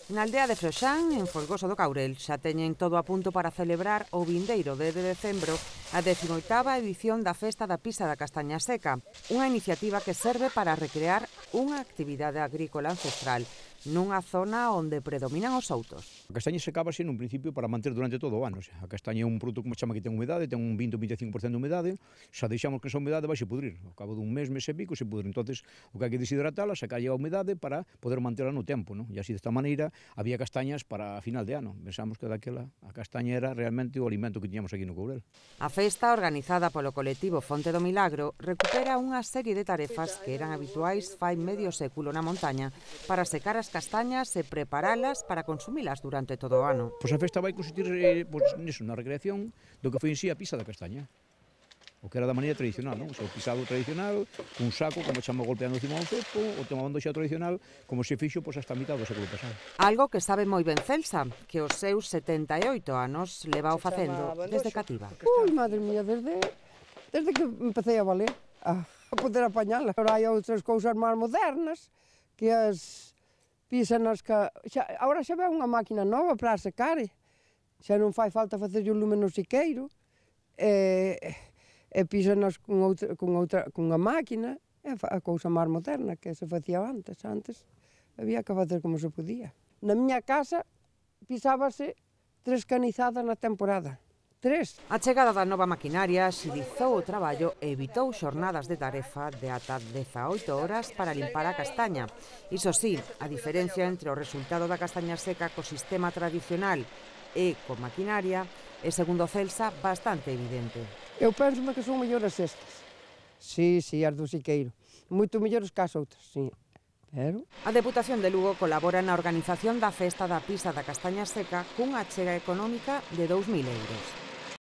Na aldea de Froxán, en Folgoso do Caurel, xa teñen todo a punto para celebrar o vindeiro 10 de decembro a 18ª edición da Festa da Pisa da Castaña Seca, unha iniciativa que serve para recrear unha actividade agrícola ancestral nunha zona onde predominan os outos. A castaña secábase nun principio para manter durante todo o ano. A castaña é un produto como chama que ten humedade, ten un 20 ou 25% de humedade, xa deixamos que esa humedade vai se pudrir. Ao cabo dun mes e pico se pudre. Entonces, o que hai que deshidratala, sacalle a humedade para poder mantela no tempo, non? E así desta maneira había castañas para a final de ano. Pensamos que daquela a castaña era realmente o alimento que tiñamos aquí no Courel. A festa, organizada polo colectivo Fonte do Milagro, recupera unha serie de tarefas que eran habituais fai medio século na montaña para secar as castañas e preparalas para consumilas durante todo o ano. Pois a festa vai consistir niso, na recreación do que foi en sí a pisa da castaña. O que era da maneira tradicional, non? O seu pisado tradicional, un saco, como chama golpeando encima do cepo, o tomando xa tradicional, como se fixo pois, hasta a mitad do século pasado. Algo que sabe moi ben Celsa, que os seus 78 anos leva o facendo desde cativa. Ui, madre mía, desde que empecé a valer, a poder apañala. Agora hai outras cousas máis modernas, que as pisan as agora xa ve unha máquina nova para secar, xa non fai falta facer o lume no siqueiro, e pisanas con unha máquina, é a cousa máis moderna que se facía antes. Antes había que facer como se podía. Na miña casa pisábase 3 canizadas na temporada. 3. A chegada da nova maquinaria axilizou o traballo e evitou xornadas de tarefa de ata 18 horas para limpar a castaña. Iso sí, a diferencia entre o resultado da castaña seca co sistema tradicional e con maquinaria é, segundo Celsa, bastante evidente. Eu penso que son mellores estas. Sí, as do siqueiro. Moito mellores que as outras, sí. Pero... A Deputación de Lugo colabora na organización da Festa da Pisa da Castaña Seca cunha achega económica de 2.000 euros.